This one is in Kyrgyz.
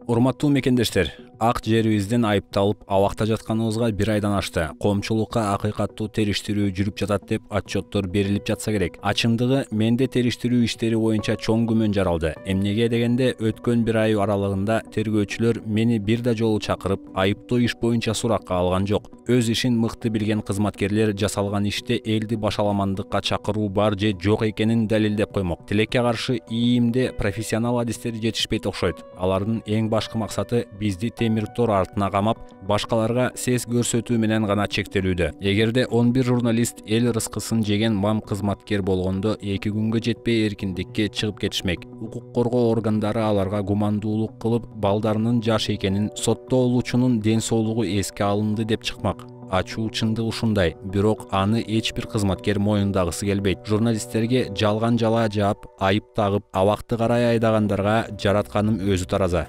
Урматтуу мекендештер, ак жерибизден айыпталып абакта жатканыбызга 1 айдан ашты. Коомчулукка акыйкаттуу териштирүү жүрүп жатат деп отчеттор берилип жатса керек. Ачымдыгы, менде териштирүү иштери боюнча чоң күмөн жаралды. Эмнеге дегенде, өткөн 1 ай аралыгында тергөөчүлөр мени бир да жолу чакырып, айыптоо иш боюнча суракка алган жок. Өз ишин мыкты билген кызматкерлер жасалган иште элди башаламандыкка чакыруу бар же жок экенин далилдеп коймок. Тилекке каршы ИИМде профессионал адистер жетишпейт окшойт. Алардын эң башкы максаты бизди темир тор артына камап, башкаларга сес көрсөтүү менен гана чектелүүдө. Эгерде 11 журналист эл рызкысын жеген мам кызматкер болгондо 2 күнгө жетпей эркиндикке чыгып кетишмек. Укук коргоо органдары аларга гумандуулук кылып, балдарынын жаш экенин, соттолуучунун ден соолугу эске алынды деп чыкмак. Ачуу чындык ушундай, бирок аны эч бир кызматкер моюндагысы келбейт. Журналисттерге жалган жала жаап, айып тагып, абакты карай айдагандарга жаратканым өзү тараза.